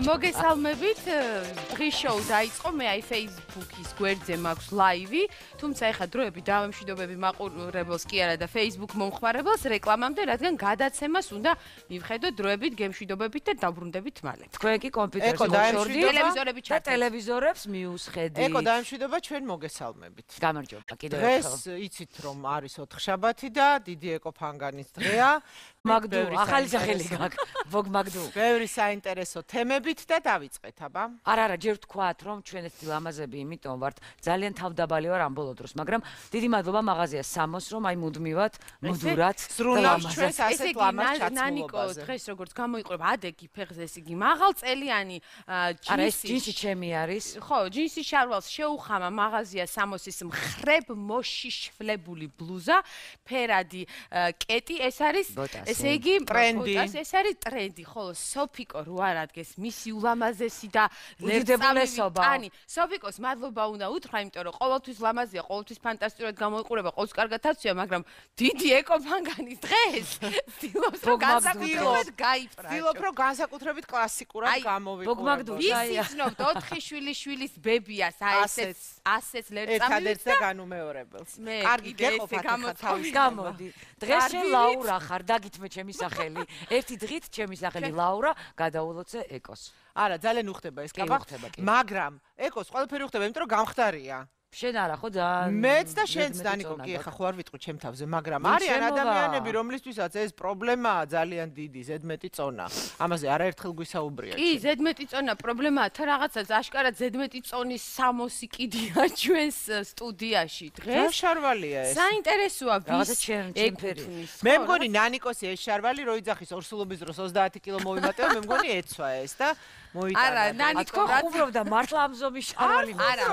მოგესალმებით, დღის შოუ დაიწყო, მე აი Facebook-ის გვერდზე მაქვს ლაივი, თუმცა ეხლა დროები დავემშვიდობები მაყურებელს კი არა და Facebook მომხმარებელს რეკლამამდე, რადგან გადაცემას უნდა მივხედოთ დროებით, გემშვიდობებით და დაბრუნდებით მალე. თქვენ კი კომპიუტერს ტელევიზორები და ტელევიზორებს მიუსხედით. ეკო დაემშვიდობა ჩვენ მოგესალმებით. გამარჯობა, კიდევ ერთხელ. დღეს იცით რომ არის ოთხშაბათი და დიდი ეკო ფანგანის დღეა. მაგდუ, ახალი სახელი გაქვს. ვოგ მაგდუ. ბევრი საინტერესო თემებით და დავიწყეთ, აბა. არა, ჯერ ვთქვათ, რომ ჩვენ ეს ლამაზები იმიტომ ვართ, ძალიან თავდაბალი ვარ ამ ბოლო დროს, მაგრამ დიდი მადლობა მაღაზია სამოს, რომ აი მუდმივად, მუდურად ზრუნავს ჩვენს ასეთ ლამაზ ჩაცმულობაზე. ნანიკო, დღეს როგორც გამოიყურება, ადეგი ფეხზე ეს იგი მაღალწელიანი ჯინსი ჩემი არის. ხო, ჯინსის შარვალს შეუხამა მაღაზია სამოსის მხრებ მოშიშვლებული ბლუზა, ფერადი კეტი, ეს არის ესე იგი ტრენდი. ეს არის ტრენდი, ხოლო სოფიკო რო არ ადგეს მისი ულამაზესი და უდიდებულესობა. ტანი. სოფიკოს მადლობა უნდა უთხრა, იმიტომ რომ ყოველთვის ლამაზია, ყოველთვის ფანტასტიკურად გამოიყურება, ყოველთვის კარგად აცვია, მაგრამ დიდი ეკოფანგანის დღეს ცდილობს რომ განსაკუთრებით გაიფრაჭო. ცდილობ რომ განსაკუთრებით კლასიკურად გამოვიყურებო. ისიცნობთ 4 შვილის ბებიას, ასეც ლერწამივით ერთადერთ და განუმეორებელს. კარგი გეყოფათ ახლა თავის გამოდი. დღეს შენ ლაურა ხარ, დაგითმე ჩემი სახელი. ერთი დღით ჩემი სახელი ლაურა, გადაულოცე ეკოს. არა, ძალიან უხდება ეს კაბა, მაგრამ ეკოს ყველაფერი უხდება, იმიტომ რომ გამხდარია. შენ არა ხო და მეც და შენც დანიკო კი ახლა ხო არ ვიტყვი ჩემ თავზე, მაგრამ არიან ადამიანები, რომლისთვისაც ეს პრობლემაა ძალიან დიდი, ზედმეტი წონა. ამაზე არაერთხელ გვისაუბრია. კი, ზედმეტი წონა პრობლემაა, თა რაღაცას აშკარად ზედმეტი წონის სამოსი კიდია ჩვენს სტუდიაში დღეს. რა შარვალია ეს? საინტერესოა ვის ეკუთვნის. მე მგონი ნანიკოსი ეს შარვალი რო იძახის ორსულობის დროს 30 კილო მოვიმატებო, მე მგონი ეცვა ეს და მოიტანა. არა, ნანიკო უბრალოდ მართლა ამ ზომის შარვალი არა,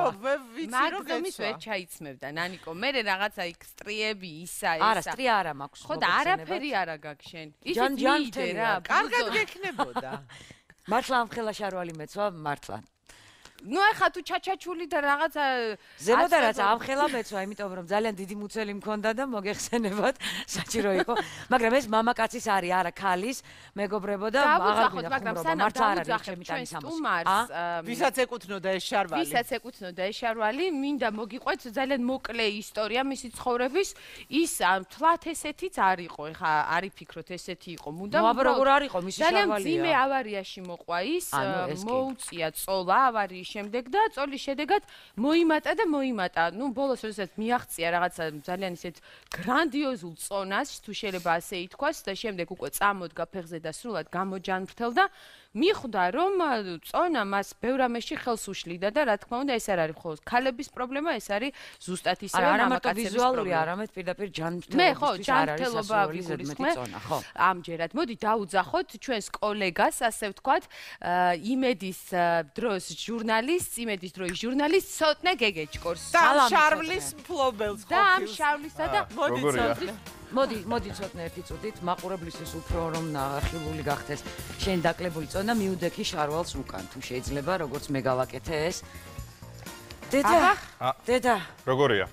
ვიცი რომ მაგზომის ვერ ჩაიცმევდა ნანიკო. მე რაღაცა იქ სტრიები ისა ესა. არა, სტრია არა მაქვს. ხო და არაფერი არა გაქვს შენ. ისიც მიდე რა. კარგად გექნებოდა. მართლა ამ ხელა შარვალი მეცვა, მართლა. ნუ ახლა თუ ჩაჩაჩული და რაღაცა ზემოთ რაც ამ ხელა მეცვა, იმიტომ რომ ძალიან დიდი მუცელი მქონდა და მოგეხსენებათ, საჭირო იყო. მაგრამ ეს მამაკაცის არის, არა ქალის, მეგობრებო და აღარ გვინდა ხუმრობა. მართლა არ არის ჩემი ტანი სამოს. ვისაც ეკუთვნოდა ეს შარვალი? ვისაც ეკუთვნოდა ეს შარვალი, მინდა მოგიყვეთ ძალიან მოკლე ისტორია მისი ცხოვრების. ის თლათ ესეთიც არ იყო, ეხა არი ფიქრობთ ესეთი იყო. მუდამ აბა როგორ არ იყო მისი შარვალია? ძალიან ძიმე ავარიაში მოყვა ის, მოუწია წოლა ავარიის შემდეგ და წოლის შედეგად მოიმატა. ნუ ბოლოს როდესაც მიაღწია რაღაცა ძალიან ისეთ გრანდიოზულ წონას, თუ შეიძლება ასე ითქვას და შემდეგ უკვე წამოდგა ფეხზე და სრულად გამოჯანმრთელდა. მიხვდა რომ წონა მას ბევრ ამაში ხელს უშლიდა და რა თქმა უნდა ეს არ არის მხოლოდ ქალების პრობლემა, ეს არის ზუსტად ისევე მამაკაცების პრობლემა. არამედ პირდაპირ ჯანმრთელობის მე ხო, ჯანმრთელობა ვიგულისხმე. ამჯერად მოდი დაუძახოთ ჩვენს კოლეგას, ასე ვთქვათ, იმედის დროს იმედის დროის ჟურნალისტ ცოტნე გეგეჭკორს. და შარვლის მფლობელს ხო? და ამ შარვლისა და მოდი ცოტნე ერთი წუთით მაყურებლისთვის უფრო რომ ნახილული გახდეს შენ დაკლებული წონა მიუდექი შარვალს უკან თუ შეიძლება როგორც მე გავაკეთე ეს დედა როგორია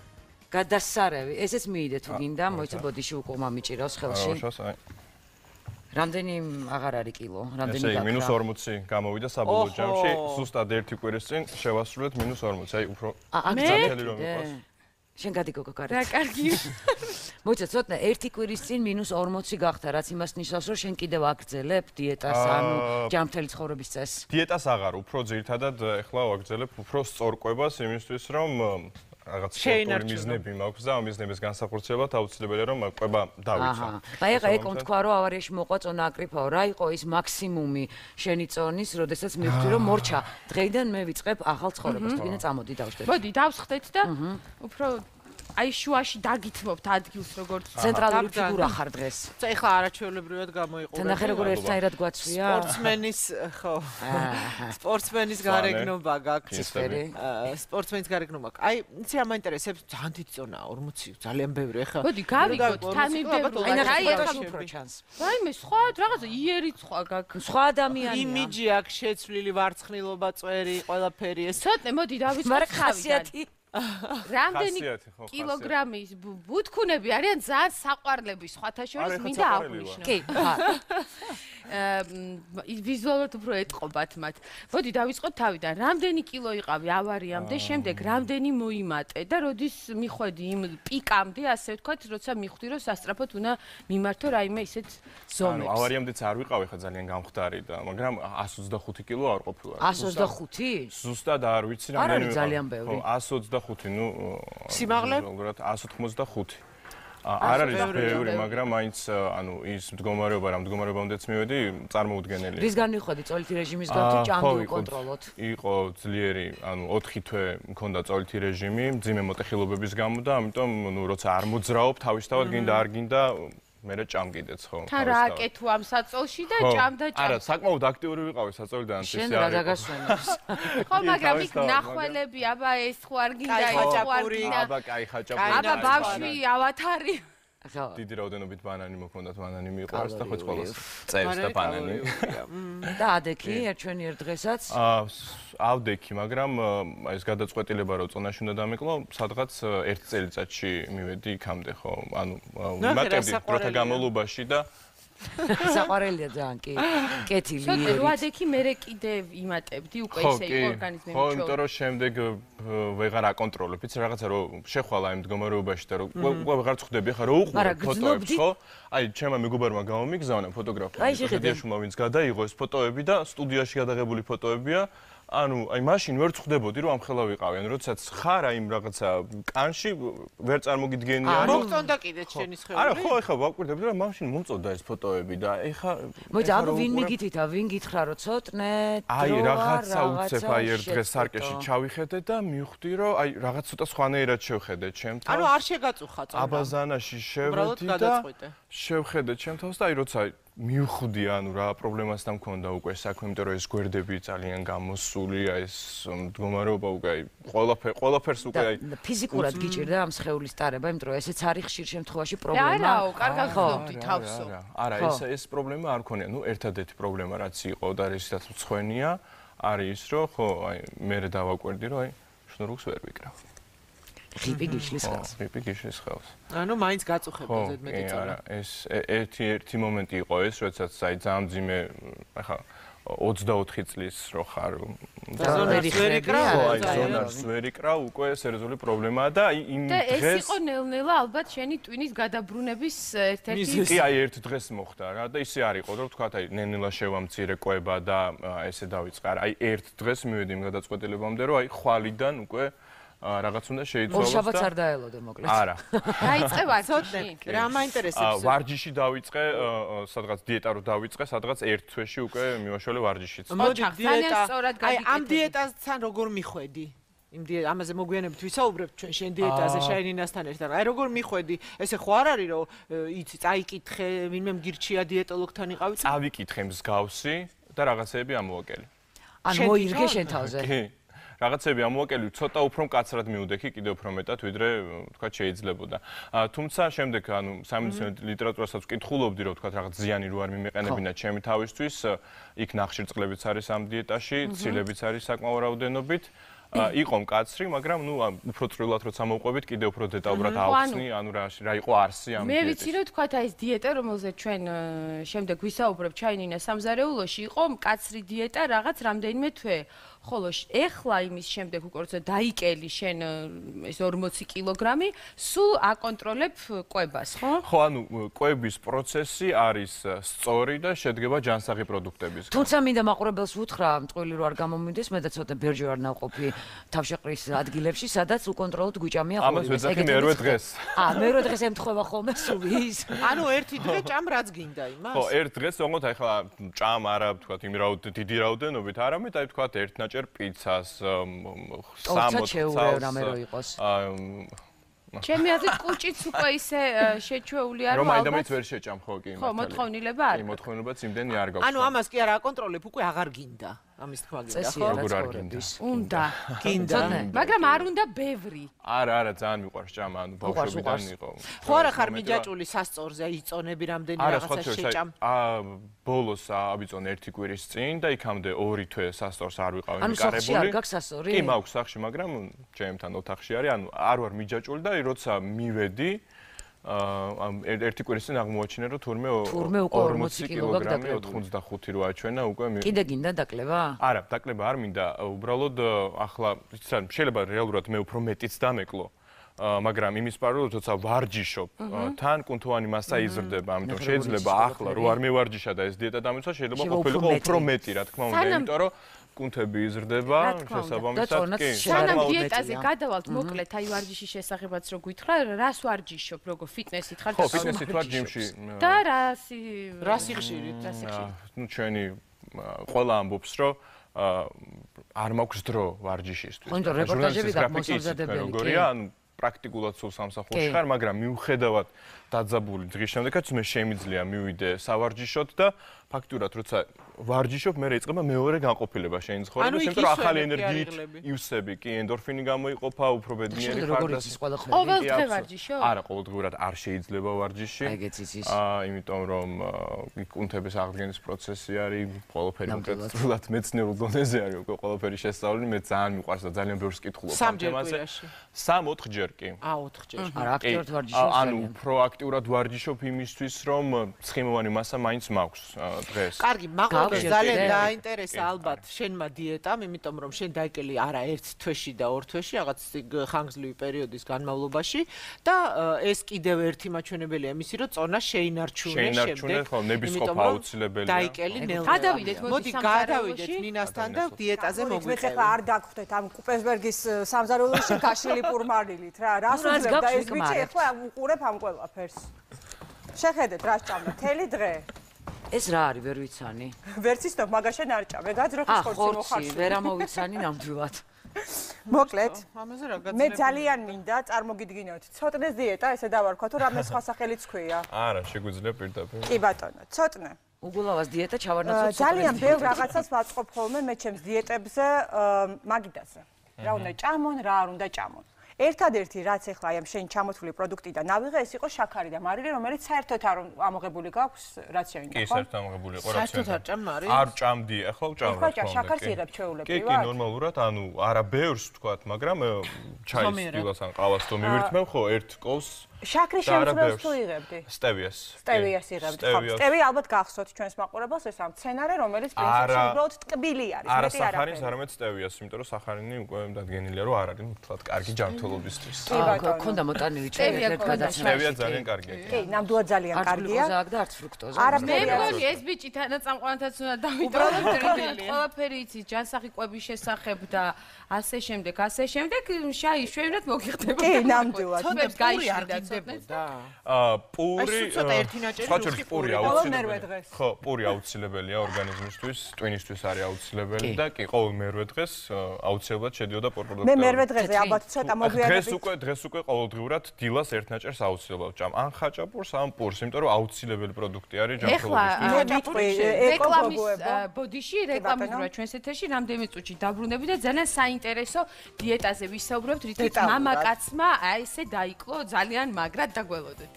გადასარევი ესეც მიიდე თუ გინდა მოიცა ბოდიში უკვე მომიჭირავს ხელში რამდენი აღარ არის კილო რამდენი გაქრა ესე -40 გამოვიდა საბოლოო ჯამში ზუსტად ერთი კვირის წინ შევასრულეთ -40 აი უფრო ძათელი რომ იყოს შენ გადიგოგო კარეთ. რა კარგი. მოიცა ცოტნე ერთი კვირის წინ -40 გახდა, რაც იმას ნიშნავს, რომ შენ კიდევ აგრძელებ დიეტას, ანუ ჯანმრთელი ცხოვრების წესს. დიეტას აღარ, უფრო ძირითადად ეხლა ვაგრძელებ უფრო სწორკვებას იმისთვის, რომ რაღაც სპორტული მიზნები მაქვს და ამ მიზნების განსახორციელებლად აუცილებელია რომ კვება დავიცვა. აი ეხლა ეკომ თქვა რომ ავარიაში მოყვა წონა აკრიფაო, რა იყო ის მაქსიმუმი შენი წონის, როდესაც მივხვდი რომ მორჩა. დღეიდან მე ვიწყებ ახალ ცხოვრებას, თუ გინდა წამოდი დავშდეთ. მოდი დავსხდეთ და უფრო აი შუაში დაგითმობთ ადგილს როგორც ცენტრალური ფიგურა ხარ დღეს. ეხლა არაჩვეულებრივად გამოიყურება. თან ახლა როგორ ერთნაირად გვაცვია? სპორტსმენის გარეგნობა გაქვს. სპორტსმენის გარეგნობა. აი, იცი რა მაინტერესებს? ძალიან დიდი წონაა 40, ძალიან ბევრი. ეხლა მოდი გავიგოთ, თან მიბერო. აი ეხლა უფრო ჩანს. რაიმე სხვა რაღაცა იერი სხვა გაქვს. სხვა ადამიანია. იმიჯი აქვს შეცვლილი ვარცხნილობა, წვერი, ყველაფერი ეს. ცოტნე მოდი დავიწყოთ ხასიათი რამდენი კილოგრამის ბუთქუნები არიან ძალიან საყვარლები სხვათა შორის მინდა აღვნიშნო. კი, ვიზუალურად უფრო ეტყობათ მათ. მოდი დავიწყოთ თავიდან. რამდენი კილო იყავი ავარიამდე, შემდეგ რამდენი მოიმატე და როდის მიხვედი იმ პიკამდე, ასე ვთქვათ, როცა მიხვდი, რომ სასწრაფოდ უნდა მიმართო რაიმე ისეთ ზომებს. ანუ ავარიამდეც არ ვიყავი ხა ძალიან გამხდარი და, მაგრამ 125 კილო არ ყოფილა. 125? ზუსტად არ ვიცი რამდენი ვიყავი. ძალიან ბევრი. 125, ნუ სიმაღლე? ზოგადად 185. არ არის ბევრი, მაგრამ მაინც ანუ ის მდგომარეობა, რა მდგომარეობამდეც მივედი, წარმოუდგენელია. რისგან მიხვედი წოლითი რეჟიმის გამო ჭამდი უკონტროლოთ? იყო ძლიერი, ანუ 4 თვე მქონდა წოლითი რეჟიმი, მძიმე მოტეხილობების გამო და ამიტომ ნუ როცა არ მოძრაობ, თავისთავად გინდა არ გინდა მერე ჭამკიდეც ხო? თან რა აკეთო ამ საწოლში და ჭამდა. არა, საკმაოდ აქტიური ვიყავი საწოლიდან ის შენ რა დაგასვენებს? ხო, მაგრამ იქ ნახველები, აბა ეს ხო არ გინდა, ეს ხო არ გინდა. აბა კაი ხაჭაპური. აბა ბავშვი ავათარი. დიდი რაოდენობით ბანანი მოქონდათ, ბანანი მიყვარს და ხო ყველას წევს და ბანანი. და ადექი ერთვენიერ დღესაც? ავდექი, მაგრამ ეს გადაწყვეტილება რომ წონაში უნდა დამიკლო, სადღაც 1 წელიწადში მივედი იქამდე, ხო? ანუ ვიმატებდი დროთა განმავლობაში და საყვარელია ძალიან კი. კეთილი. ცოტა რო ადექი მერე კიდე იმატებდი უკვე ისე ორგანიზმი ხო, იმიტომ რომ შემდეგ ვეღარ აკონტროლებ, იცი რაღაცა რომ შეხვალა იმ მდგომარეობაში და რომ ვეღარ წხვდები, ხა რო უყურებ ფოტოებს, ხო? აი, ჩემმა მეგობარმა გამომიგზავნა ფოტოგრაფია. შეხედე ვინც გადაიღო ეს ფოტოები და სტუდიაში გადაღებული ფოტოებია. ანუ აი მაშინ ვერ წხვდებოდი რომ ამხელა ვიყავი. ანუ როდესაც ხარ აი იმ რაღაცა კანში ვერ წარმოგიდგენია. მოგწონდა კიდე შენი სხეული? არა, ხო, ეხლა ვაკვირდებდი რომ მაშინ მომწონდა ეს ფოტოები და ეხლა მოიცა, ანუ ვინ მიგითითა, ვინ გითხრა რომ ცოტნე აი რაღაცა უცებ აი ერთ დღეს სარკეში ჩავიხედე და მივხვდი რომ აი რაღაც ცოტა სხვანაირად შევხედე ჩემთან. ანუ არ შეგაწუხა წონა. აბაზანაში შევედი და შევხედე ჩემთავს და აი როცა მივხვდი ანუ რა პრობლემასთან მქონდა უკვე საქმე, იმიტომ რომ ეს გვერდები ძალიან გამოსული, აი ეს მდგომარეობა უკვე აი ყველაფერს უკვე აი ფიზიკურად გიჭირდა ამ სხეულის ტარება, იმიტომ რომ ესეც არის ხშირ შემთხვევაში პრობლემა. არაო, კარგად ხვდები თავსო. არა, ეს პრობლემა არ ქონია. ნუ ერთადერთი პრობლემა რაც იყო და რისთაც მცხვენია, არის ის რომ ხო აი მე დავაკვირდი რომ აი შნურს ვერ ვიკრავ. ხიპი გიშლის ხელს. ხიპი გიშლის ხელს. ანუ მაინც გაწუხებდა ზედმეტი წონა. არა, ეს ერთი მომენტი იყო ეს, როდესაც აი ძალიან ძიმე ახლა 24 წლის რო ხარ ზონარს ვერ იკრავ, ზონარს ვერ იკრავ, უკვე სერიოზული პრობლემაა და აი იმ დღეს და ეს იყო ნელ-ნელა ალბათ შენი ტვინის გადაბრუნების ერთ-ერთი კი აი ერთ დღეს მოხდა რა და ისე არ იყო რომ თქვა აი ნელ-ნელა შევამცირე კვება და ესე დავიწყე. აი ერთ დღეს მივედი იმ გადაწყვეტილებამდე რომ აი ხვალიდან უკვე რაღაც უნდა შეიცვალოს და ორშაბათს არ დაელოდე მოკლედ. არა. დაიწყე ვარჯიში. რა მაინტერესებს? ვარჯიში დავიწყე, სადღაც დიეტა რო დავიწყე, სადღაც ერთ თვეში უკვე მივაშველე ვარჯიშიც. მოდი დიეტა. აი ამ დიეტასთან როგორ მიხვედი? იმ ამაზე მოგვიანებით ვისაუბრებთ ჩვენ შენ დიეტაზე შაინინასთან ერთად. აი როგორ მიხვედი? ესე ხო არ არის რომ იცი, წაიკითხე, ვინმე მგირჩია დიეტოლოგთან იყავი? წავიკითხე მსგავსი და რაღაცეები ამოვაკელე. ანუ მოირგე შენ თავზე. კი. რაღაცები ამოვაკელი, ცოტა უფრო მკაცრად მივდექი, კიდევ უფრო მეტად, ვიდრე თქვა შეიძლებოდა. თუმცა შემდეგ ანუ სამედიცინო ლიტერატურასაც ვკითხულობდი, რომ თქვა რაღაც ზიანი რო არ მიმეყენებინა ჩემი თავისთვის, იქ ნახშირწყლებიც არის ამ დიეტაში, ცილებიც არის საკმაო რაოდენობით. იყო მკაცრი, მაგრამ ნუ უფრო წვრილად როცა მოვყვებით, კიდევ უფრო დეტალურად ავხსნი, ანუ რა იყო არსი ამ დიეტის. მე ვიცი რომ თქვა ეს დიეტა, რომელზეც ჩვენ შემდეგ ვისაუბრებთ ჩაინინას სამზარეულოში, იყო მკაცრი დიეტა რაღაც რამდენიმე თვე. ხოლო ეხლა იმის შემდეგ უკვე როცა დაიკელი შენ ეს 40 კილოგრამი, სულ აკონტროლებ კვებას, ხო? ხო, ანუ კვების პროცესი არის სწორი და შედგება ჯანსაღი პროდუქტებისგან. თუმცა მინდა მაყურებელს უთხრა, მტყვილი რო არ გამომივიდეს, მე და ცოტა ბერჯი ვარ ნავყოფი თავშეყრის ადგილებში, სადაც უკონტროლოდ გვიჭამია ხოლმე. ამას ვეძახი მერვე დღეს. მერვე დღეს ემთხვევა ხოლმე სულ ის. ანუ ერთი დღე ჭამ რაც გინდა იმას? ხო, ერთ დღეს თქო ახლა ჭამ არა თქვა იმ დიდი რაოდენობით, არამედ აი თქვა ერთ ნაჭერ პიცას 60 რამე რო იყოს. ჩემი აზრით კუჭიც უკვე ისე შეჩვეული არა რომ მაინდამაინც ვერ შეჭამ ხო კი ხო მოთხოვნილება არის. კი მოთხოვნილებაც იმდენი არ გაქვს. ანუ ამას კი არა აკონტროლებ, უკვე აღარ გინდა. ამის თქმა გინდა ხო? როგორ არ გინდა? უნდა. გინდა. მაგრამ არ უნდა ბევრი. არა, ძალიან მიყვარს ჭამა, ანუ ბავშვობიდან იყო. ხო არა ხარ მიჯაჭული სასწორზე, იწონები რამდენი რაღაცა შეჭამ. ბოლოს ავიწონე 1 კვირის წინ და იქამდე 2 თვე სასწორს არ ვიყავი მიკარებული. ანუ სახლში არ გაქვს სასწორი? კი, მაქვს სახლში, მაგრამ ჩემთან ოთახში არის, ანუ არ ვარ მიჯაჭული და როცა მივედი ამ 1 კვირის წინ აღმოაჩინე რომ თურმე 40 კილოგრამი 85 რო აჩვენა უკვე კიდე გინდა დაკლება? არა, დაკლება არ მინდა, უბრალოდ ახლა შეიძლება რეალურად მე უფრო მეტიც დამეკლო. მაგრამ იმის პარალელურად როცა ვარჯიშობ, თან კუნთოვანი მასა იზრდება, ამიტომ შეიძლება ახლა რო არ მევარჯიშა და ეს დიეტა დამეცვა, შეიძლება ყოფილიყო უფრო მეტი, რა თქმა უნდა, იმიტომ რომ კუნთები იზრდება, შესაბამისად კი. სანამ დიეტაზე გადავალთ, მოკლედ, აი ვარჯიშის შესახებაც რო გითხრა, რას ვარჯიშობ, როგორ ფიტნესით ხარ და ხო, ფიტნესით ვარ ჯიმში. და რასი ხშირით? ნუ ჩვენი ყველა ამბობს, რომ არ მაქვს დრო ვარჯიშისთვის. ხო, რეპორტაჟები გამოსამზადებელი. როგორია, ანუ პრაქტიკულად სულ სამსახურში ხარ, მაგრამ მიუხედავად დაძაბული დღის შემდეგაც მე შემიძლია მივიდე სავარჯიშოდ და ფაქტურად როცა ვარჯიშობ, მე რეიწყება მეორე განყოფილება შენი ცხოვრებაში, იმიტომ რომ ახალი ენერგიით ივსები, კი, ენდორფინი გამოიყოფა, უფრო ბედნიერი ხარ და ყოველდღე ვარჯიშობ? არა, ყოველდღურად არ შეიძლება ვარჯიში. იმიტომ რომ კუნთების აღდგენის პროცესი არის, ყველაფერი უკეთესად მეცნიერულ დონეზე არის, უკვე ყველაფერი შესწავლილი, მე ძალიან მიყვარს და ძალიან ბევრს კითხულობ ამ თემაზე. 3-4 ჯერ კი. 4 ჯერ. არა, აქტიურად ვარჯიშობ. ანუ პროაქტიურად ვარჯიშობ იმისთვის, რომ ცხიმოვანი მასა მაინც მაქვს დღეს. კარგი, მაყურებს ძალიან დაინტერესა ალბათ შენმა დიეტამ, იმიტომ რომ შენ დაიკელი არა 1 თვეში და 2 თვეში, რაღაც ხანგრძლივი პერიოდის განმავლობაში და ეს კიდევ ერთი მაჩვენებელია იმისი, რომ წონა შეინარჩუნე შემდეგ. შეინარჩუნე, ხო, ნებისყოფა აუცილებელია. დაიკელი ნელ. გადავიდეთ, მოდი გადავიდეთ ნინასთან და დიეტაზე მოგვიწევთ. მე ხა არ დაგხვდეთ ამ კუპერსბერგის სამზარეულოში გაშლილი პურმარილით რა. რას უძლებ და ეს ბიჭი ახლა უყურებ ამ ყველაფერს. შეხედეთ რა სჭამდა თელი დღე. ეს რა არის, ვერ ვიცანი. ვერც ისნობ, მაგაშენ არ ჭამე, გაძროხის ხორცი მოხარშული. ხორცი, ვერ ამოვიცანი ნამდვილად. მოკლედ, ამაზე რა გაძლევს? მე ძალიან მინდა წარმოგიდგინოთ. ცოტნეს დიეტა, ესე დავარქვა, თუ რამე სხვა სახელიც ქვია. არა, შეგვიძლია პირდაპირ. კი ბატონო, ცოტნე. უგულავას დიეტა ჩავარნაცოთ. ძალიან ბევრ რაღაცას ვაწყობ ხოლმე მე ჩემს დიეტებზე მაგიდაზე. რა უნდა ჭამონ, რა არ უნდა ჭამონ. ერთადერთი რაც ახლა აი ამ შენ ჩამოთვლილი პროდუქტიდან ავიღე, ეს იყო შაქარი და მარილი, რომელიც საერთოდ არ ამოღებული გაქვს რაციონიდან, ხო? კი, საერთოდ ამოღებული იყო რაციონიდან. საერთოდ არ ჭამ მარილს? არ ჭამდი, ახლა ვჭამ რა თქმა უნდა. ახლა შაქარს იღებ ჩვეულებრივად? კი, ნორმალურად, ანუ არა ბევრს ვთქვათ, მაგრამ ჩაის დილას ან ყავას თუ მივირთმევ, ხო, 1 კოვს შაქრის შემცველს თუ იღებდი? სტევიას. სტევიას იღებდი. ხო, სტევია ალბათ გახსოვთ ჩვენს მაყურებელს, ეს ამ მცენარე, რომელიც პრინციპში უბრალოდ ტკბილი არის, მეტი არ არის. არა სახარინს, არამედ სტევიას, იმიტომ რომ სახარინი უკვე დადგენილია, რომ არ არის თლად კარგი ჯანმრთელობისთვის. კი ბატონო. ქონდა მოტანილი ჩვენ ერთ გადაცემა. სტევია ძალიან კარგია. კი, ნამდვილად ძალიან კარგია. არც გლუკოზა აქვს და არც ფრუქტოზა. მე მგონი ეს ბიჭი თანაწამყვანთაც უნდა დავიტოვოთ. ყველაფერი იცის ჯანსაღი კვების შესახებ და ასე შემდეგ, ასე შემდეგ, შაი შვენად მოგიხდება. კი, ნამდვილად. თუნდაც გაიშლიდა ცოტნედა. პური, ცოტა ერთი ნაჭერი რუხი პური აუცილებელია. დღეს. ხო, პური აუცილებელია ორგანიზმისთვის, ტვინისთვის არის აუცილებელი და კი, ყოველ მერვე დღეს აუცილებლად შედიოდა პროდუქტი. მე მერვე დღეზე ალბათ ცოტა მოგვიანებით. დღეს უკვე ყოველდღიურად დილას ერთ ნაჭერს აუცილებლად ჭამ. ან ხაჭაპურს, ან პურს, იმიტომ რომ აუცილებელი პროდუქტი არის ჯანმრთელობისთვის. მე ვიტყვი რეკლამის ბოდიში რეკლამის დროა ჩვენს ეთერში რამდენიმე წუთში დაბრუნები და ძალიან საინტერესო დიეტაზე ვისაუბრებთ, რითიც მამაკაცმა აი ესე დაიკლო ძალიან მაგრად დაგველოდეთ.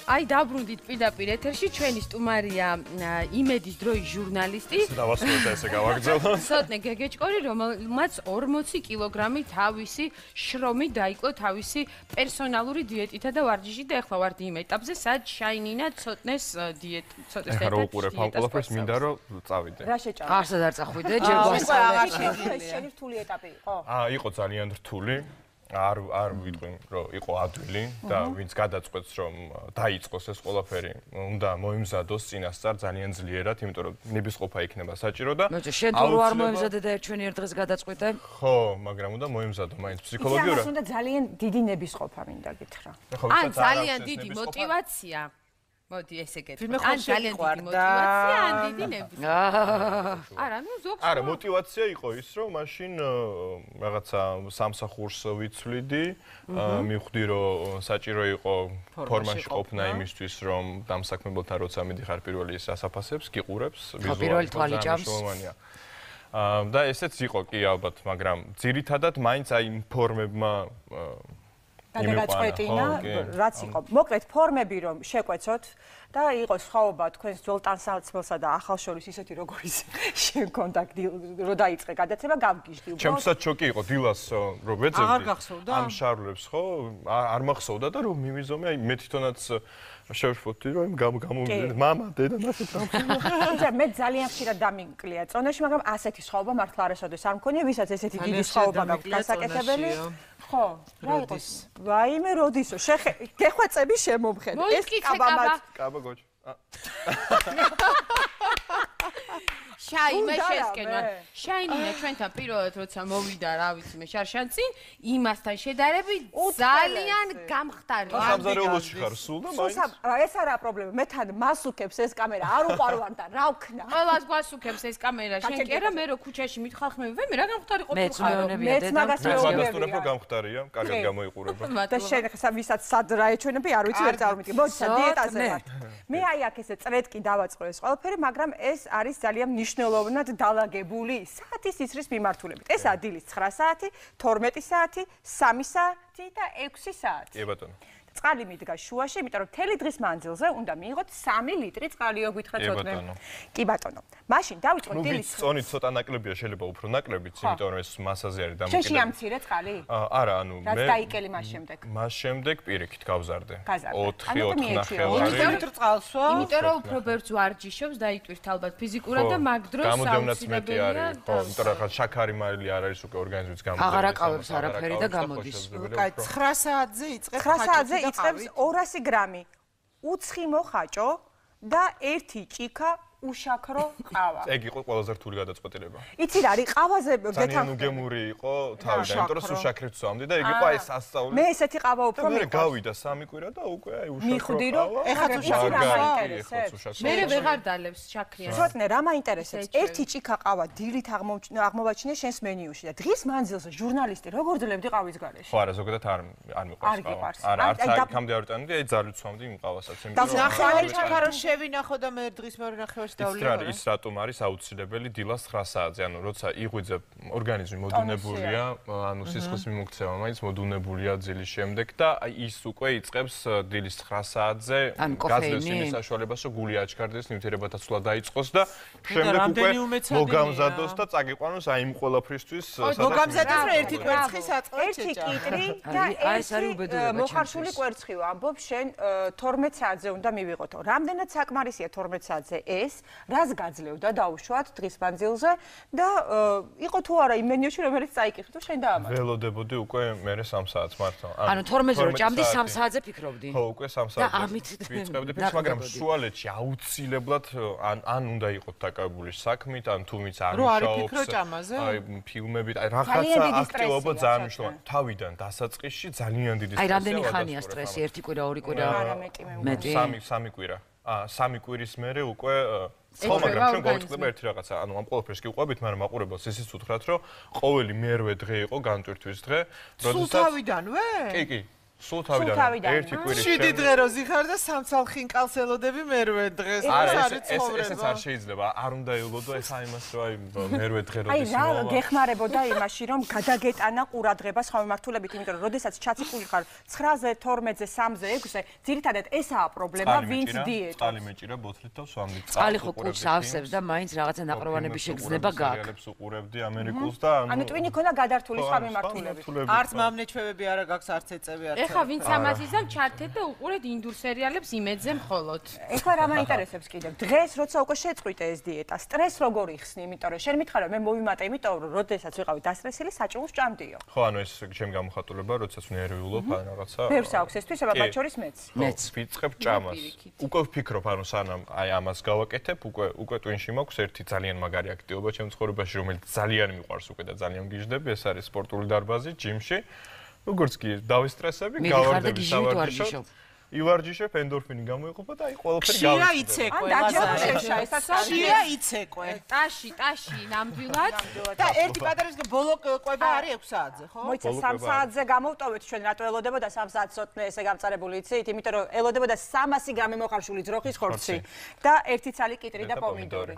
აი დაბრუნდით პირდაპირ ეთერში ჩვენი სტუმარია იმედის დროის ჟურნალისტი. დავასრულოთ ესე გავაგრძელო. ცოტნე გეგეჭკორი, რომელმაც 40 კილოგრამი თავისი შრომით დაიკლო თავისი პერსონალური დიეტითა და ვარჯიშით და ახლა ვარდი იმ ეტაპზე, სადაც შაინინა ცოტნეს ცოტნეს ეხლა რო უყურებ ამ ყველაფერს მინდა რომ წავიდე. რა შეჭამ? არსად არ წახვიდე, ჯერ გვასწავლე. შენი რთული ეტაპი იყო? იყო ძალიან რთული. არ ვიტყვი რომ იყო ადვილი და ვინც გადაწყვეტს რომ დაიწყოს ეს ყველაფერი უნდა მოიმზადოს წინასწარ ძალიან ძლიერად, იმიტომ რომ ნებისყოფა იქნება საჭირო და შენ თუ არ მოემზადე და ჩვენი ერთ დღეს გადაწყვეტე? ხო, მაგრამ უნდა მოიმზადო მაინც ფსიქოლოგიურად. ის უნდა ძალიან დიდი ნებისყოფა მინდა გითხრა. ან ძალიან დიდი мотиваცია. მოდი ესე გეტყვი. ან ძალიან დიდი мотиваცია, ან დიდი ნებრი. არა, ну ზოგს. არა, мотиваცია იყო ის, რომ მაშინ რაღაცა სამსახურს ვიცვლიდი, მივხვდი, რომ საჭირო იყო ფორმაში ყოფნა იმისთვის, რომ დამსაქმებელთან როცა მიდიხარ პირველი ის ასაფასებს, გიყურებს, ვიზუალურად თვალი ჭამს. და ესეც იყო კი ალბათ, მაგრამ ძირითადად მაინც აი ფორმებმა გადაგაწყვეტინა, რაც იყო. მოკლედ ფორმები რომ შეკვეცოთ და იყო სხვაობა თქვენს ძველ ტანსაცმელსა და ახალ შორის ისეთი როგორიც შენ კონტაქტი რო დაიწყე გადაცემა გავგიჟდი უბრალოდ. ჩემსაც შოკი იყო დილას რომ ვეძებდი. ამ შარლებს ხო არ მახსოვდა და რომ მივიზომე აი მე თვითონაც შევშფოთდი რომ გამოვიდე მამა დედა მასეთ რა. მე ძალიან ხშირად დამიკლია წონაში, მაგრამ ასეთი სხვაობა მართლა არასოდეს არ მქონია, ვისაც ესეთი დიდი სხვაობა გაქვს გასაკეთებელი. ხო, რა იყოს? ვაიმე როდისო, გეხვეწები შემომხედე. ეს კაბა გოჩ. შაიმე შესკენვა. შაინინა ჩვენთან პირველად როცა მოვიდა, რა ვიცი მე შარშანწინ, იმასთან შედარებით ძალიან გამხდარი. სამზარეულოში ხარ სულ და მაინც. ეს არა პრობლემა. მე თან მასუქებს ეს კამერა, არ უყარვარ და რა ვქნა. ყველას გვასუქებს ეს კამერა. შენ კი არა, მე რო ქუჩაში მითხალხმები, მე რა გამხდარი ყოფილი მეც მეუბნებია დედა. მეც მაგასტურებ რომ გამხდარია, კარგად გამოიყურება. და შენ ხა ვისაც სად რა ეჩვენები, არ ვიცი ვერ წარმოვიდგე. მოდი სა დიეტაზე ვარ. მე აი აქ ესე წრედკი დავაწყო ეს ყველაფერი, მაგრამ ეს არის ძალიან მნიშვნელოვნად დალაგებული საათის ისრის მიმართულებით. ეს დილის 9 საათი, 12 საათი, 3 საათი და 6 საათი. კი ბატონო. წყალი მიდგა შუაში, იმიტომ რომ მთელი დღის მანძილზე უნდა მიიღოთ 3 ლიტრი წყალიო გითხრათ ცოტნე. კი ბატონო. მაშინ დავიწყოთ დილის. წონი цота ნაკლებია, შეიძლება უფრო ნაკლებიც, იმიტომ რომ ეს მასაზე არის დამოკიდებული. შეში ამცირე წყალი? არა, ანუ მე რაც დაიკელი მას შემდეგ. მას შემდეგ პირიქით გავზარდე. 4 4 ლიტრი წყალსო? იმიტომ რომ უფრო ბევრს ვარჯიშობს, დაიტვირთ ალბათ ფიზიკურად და მაგ დროს გამოდევნაც მეტი არის. ხო, იმიტომ რომ შაქარი მარილი არ არის უკვე ორგანიზმის გამოდევნა. აღარ აკავებს არაფერი და გამოდის. კაი, 9 საათზე იწყებს 9 საათზე იწყებს 200 გრამი უცხი მოხაჭო და 1 ჭიქა უშაქრო ყავა. ეგ იყო ყველაზე რთული გადაწყვეტილება. იცი რა არის ყავაზე ძალიან უგემური იყო თავიდან, იმიტომ რომ სუშაქრით ვსვამდი და ეგ იყო აი სასწაული. მე ესეთი ყავა უფრო მე გავიდა 3 კვირა და უკვე აი უშაქრო. მიხვდი რომ ეხლა თუ იცი რა მაინტერესებს. მე ვეღარ დალევს შაქრიანს. ცოტნე რა მაინტერესებს? 1 ჭიქა ყავა დილით აღმოვაჩინე შენს მენიუში და დღის მანძილზე ჟურნალისტი როგორ ძლევდი ყავის გარეშე? ხო არა, ზოგადად არ მიყვარს ყავა. არა, არც აქამდე არ ვიტანდი, აი ძალით ვსვამდი იმ ყავასაც, იმიტომ რომ ნახევარი ჩაქარო შევინახო და მე დღის მეორე ნახევარში დავლიო. ის რატომ არის აუცილებელი დილას 9 საათზე, ანუ როცა იღვიძებ ორგანიზმი მოდუნებულია, ანუ სისხლის მიმოქცევა მაინც მოდუნებულია ძილის შემდეგ და აი ის უკვე იწყებს დილის 9 საათზე გაძლევს იმის საშუალებას, რომ გული აჩქარდეს, ნივთიერებათაცვლა დაიწყოს და შემდეგ უკვე მოგამზადოს და წაგიყვანოს აი იმ ყველაფრისთვის მოგამზადოს რა ერთი კვერცხი საწყლად შეჭა. 1 კიტრი და ეს მოხარშული კვერცხი ვამბობ, შენ 12 საათზე უნდა მივიღოთო. რამდენად საკმარისია 12 საათზე ეს? რას გაძლევდა დაუშვათ დღის მანძილზე და იყო თუ არა იმ მენიუში რომელიც წაიკითხე თუ შენ დაამატე. ველოდებოდი უკვე მე 3 საათს მართლა. ანუ 12-ზე რო ჭამდი 3 საათზე ფიქრობდი. ხო, უკვე 3 საათზე. და ამით ვიწყებდი ფიქრს, მაგრამ შუალედში აუცილებლად ან უნდა იყოთ დაკავებული საქმით, ან თუმიც არ მუშაობს. აი ფილმებით, აი რაღაცა აქტივობა ძალიან მნიშვნელოვანია. თავიდან დასაწყისში ძალიან დიდი სტრესი. აი რამდენი ხანია სტრესი? 1 კვირა, 2 კვირა? არა მეტი. 3 კვირა. 3 კვირის მერე უკვე ხო, მაგრამ ჩვენ გავიწყდება ერთი რაღაცა, ანუ ამ ყველაფერს კი უყვებით, მაგრამ მაყურებელს ისიც უთხრათ, რომ ყოველი მერვე დღე იყო განტვირთვის დღე, როდესაც სულ თავიდანვე? კი. სულ თავიდან ერთი კვირის შემდეგ 7 დღე რო ზიხარ და სამცალ ხინკალს ელოდები მერვე დღეს. ესეც არ შეიძლება, არ უნდა ელოდო ეს აი იმას, რომ აი მერვე დღე როდის მოვა. აი რა გეხმარებოდა იმაში, რომ გადაგეტანა ყურადღება სხვა მიმართულებით, იმიტომ რომ როდესაც ჩაციკული ხარ 9-ზე, 12-ზე, 3-ზე, 6-ზე, ძირითადად ესაა პრობლემა, ვინც დიეტა. წყალი მეჭირა ბოთლით და ვსვამდი. წყალი ხო კუჭს ავსებს და მაინც რაღაცა ნაპროვანების შეგრძნება გაქვს. სერიალებს უყურებდი ამერიკულს და ანუ ტვინი ქონა გადართული სხვა მიმართულებით. არც მამნეჩვევები არა გაქვს, არც ეწევი არც. ეხა ვინც ამას იზამ ჩართეთ და უყურეთ ინდურ სერიალებს იმედზე მხოლოდ. ეხლა რა მაინტერესებს კიდევ? დღეს როცა უკვე შეწყვიტე ეს დიეტა, სტრესს როგორ იხსნი? იმიტომ რომ შენ მითხარ რომ მე მოვიმატე, იმიტომ რომ როდესაც ვიყავი დასტრესილი, საჭმელს ჭამდიო. ხო, ანუ ეს ჩემი გამოხატულება, როდესაც ნერვიულობ ან რაღაცა. ბევრს აქვს ეს თვისება, მათ შორის მეც. ვიწყებ ჭამას. უკვე ვფიქრობ, ანუ სანამ აი ამას გავაკეთებ, უკვე ტვინში მაქვს ერთი ძალიან მაგარი აქტივობა ჩემ ცხოვრებაში, რომელიც ძალიან მიყვარს უკვე და ძალიან გიждები, ეს არის სპორტული დარბაზი, ჯიმში. როგორც კი დავისტრესები, გავარდები სავარჯიშო. ივარჯიშებ, ენდორფინი გამოიყოფა და აი ყველაფერი შია იცეკვე, ლაზარე. შია იცეკვე. ტაში ნამდვილად და ერთი პატარის ბოლო კვება არის 6 საათზე, ხო? მოიცა 3 საათზე გამოვტოვეთ ჩვენ რატო ელოდებოდა 3 საათს სოტნე ესე გამწარებული იცით, იმიტომ რომ ელოდებოდა 300 გრამი მოხარშული ძროხის ხორცი და ერთი ცალი კიტრი და პომიდორი.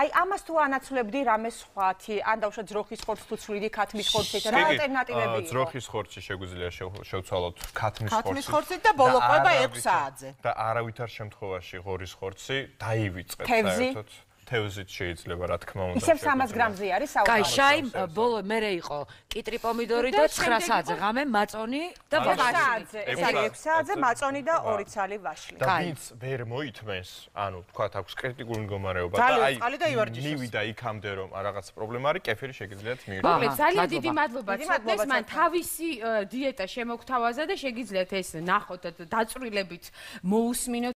აი ამას თუ ანაცვლებდი რამე სხვათი, ან დავუშვათ ძროხის ხორცს თუ ცვლიდი ქათმის ხორცით, რა ალტერნატივები იყო? ძროხის ხორცი შეგვიძლია შევცვალოთ ქათმის ხორცით და ბოლო კვება 6 საათზე. და არავითარ შემთხვევაში ღორის ხორცი დაივიწყეთ საერთოდ. თევზით შეიძლება რა თქმა უნდა. ისევ 300 გრამზე არის საუბარი. კაი, შაი ბოლო მერე იყო კიტრი პომიდორი და 9 საათზე ღამე მაწონი და ვაშლი. ეს არის 6 საათზე მაწონი და 2 ცალი ვაშლი. და ვინც ვერ მოითმენს, ანუ თქვათ აქვს კრიტიკული მდგომარეობა და აი მივიდა იქამდე რომ რაღაც პრობლემა არის, კეფირი შეგიძლიათ მიიღოთ. მოკლედ ძალიან დიდი მადლობა ცოტნეს, მან თავისი დიეტა შემოგთავაზა და შეგიძლიათ ეს ნახოთ დაწვრილებით მოусმინოთ